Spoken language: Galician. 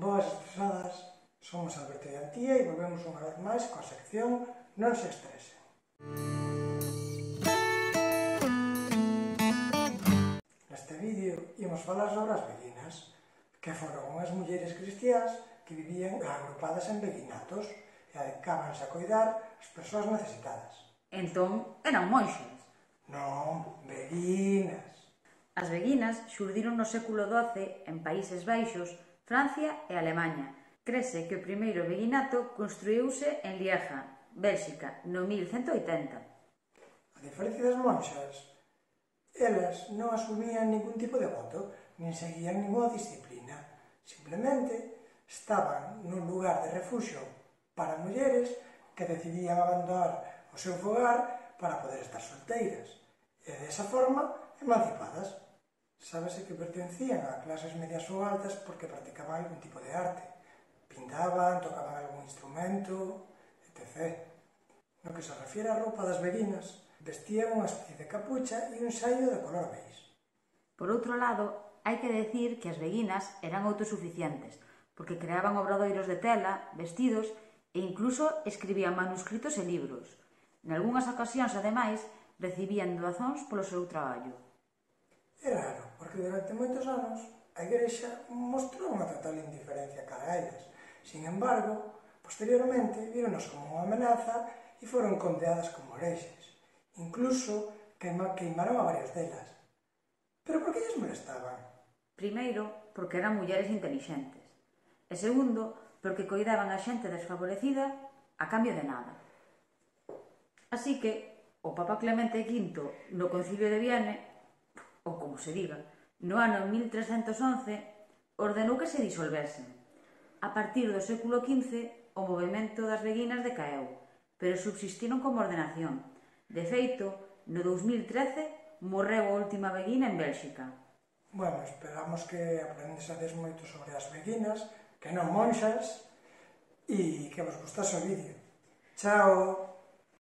Boas estresadas, somos Alberto e Antía e volvemos unha vez máis coa sección Non se estresen. Neste vídeo imos falar sobre as beguinas, que foron unhas mulleres cristiás que vivían agrupadas en beguinatos e dedicábanse a coidar as persoas necesitadas. Entón, eran monxas. Non, beguinas. As beguinas xurdiron no século XII en Países Baixos, Francia e Alemaña. Crese que o primeiro beguinato construíuse en Lieja, Bélxica, no 1180. A diferencia das monxas, elas non asumían ningún tipo de voto, nin seguían ninguna disciplina. Simplemente estaban nun lugar de refuxio para mulleres que decidían abandonar o seu fogar para poder estar solteiras e desa forma emancipadas. Sábese que pertencían a clases medias ou altas porque practicaban algún tipo de arte. Pintaban, tocaban algún instrumento, etc. No que se refiere á roupa das beguinas, vestían unha especie de capucha e un saio de color beige. Por outro lado, hai que decir que as beguinas eran autosuficientes, porque creaban obradoiros de tela, vestidos e incluso escribían manuscritos e libros. Nalgúnas ocasións, ademais, recibían doazóns polo seu traballo. É raro, porque durante moitos anos a Igrexa mostrou unha total indiferencia cara a elas. Sin embargo, posteriormente víronos como unha amenaza e foron condeadas como herexes. Incluso queimaron a varias delas. Pero por que lles molestaban? Primeiro, porque eran mulleres intelixentes. E segundo, porque coidaban a xente desfavorecida a cambio de nada. Así que o Papa Clemente V, no Concilio de Vienne, ou como se diga, no ano 1311, ordenou que se disolvesen. A partir do século XV, o movemento das beguinas decaeu, pero subsistiron como ordenación. De feito, no 2013, morreu a última beguina en Bélxica. Bueno, esperamos que aprendesades moito sobre as beguinas, que non monxas, e que vos gustase o vídeo. Chao!